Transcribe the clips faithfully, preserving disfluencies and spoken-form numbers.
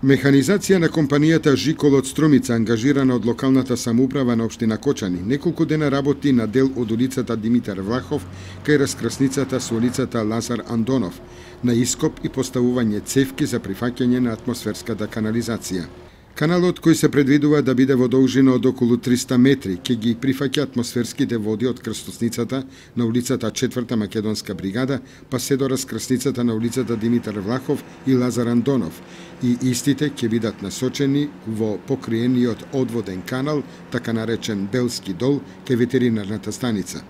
Механизација на компанијата Жикол од Струмица, ангажирана од локалната самоуправа на општина Кочани, неколку дена работи на дел од улицата Димитар Влахов кај раскрсницата со улицата Лазар Андонов, на ископ и поставување цевки за прифаќање на атмосферската канализација. Каналот, кој се предвидува да биде во должина од околу триста метри, ќе ги прифаќа атмосферските води од крстосницата на улицата четврта Македонска бригада, па се до раскрсницата на улицата Димитар Влахов и Лазар Андонов, и истите ќе бидат насочени во покриениот одводен канал, така наречен Белски дол, кај ветеринарната станица.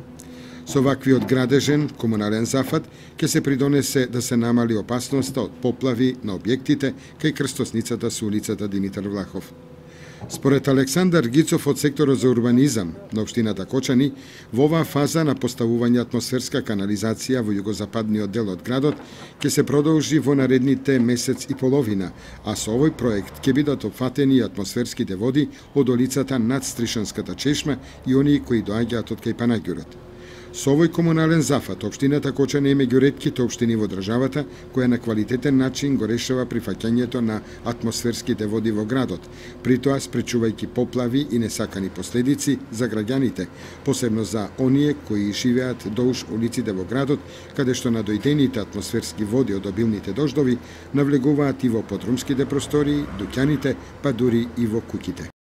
Со ваквиот градежен комунален зафат ќе се придонесе да се намали опасноста од поплави на објектите кај крстосницата со улицата Димитар Влахов. Според Александар Гицов од секторот за урбанизам на општината Кочани, во оваа фаза на поставување атмосферска канализација во југозападниот дел од градот ќе се продолжи во наредните месец и половина, а со овој проект ќе бидат опфатени атмосферските води од улицата над Стришанската чешма и оние кои доаѓаат од кај Панаѓурот. Со овој комунален зафат, општината Кочани е меѓу ретките општини во државата која на квалитетен начин го решава прифаќањето на атмосферските води во градот, при тоа спречувајќи поплави и несакани последици за граѓаните, посебно за оние кои живеат долж улиците во градот, каде што надојдените атмосферски води од обилните дождови навлегуваат и во подрумските простории, дуќаните, па дури и во куќите.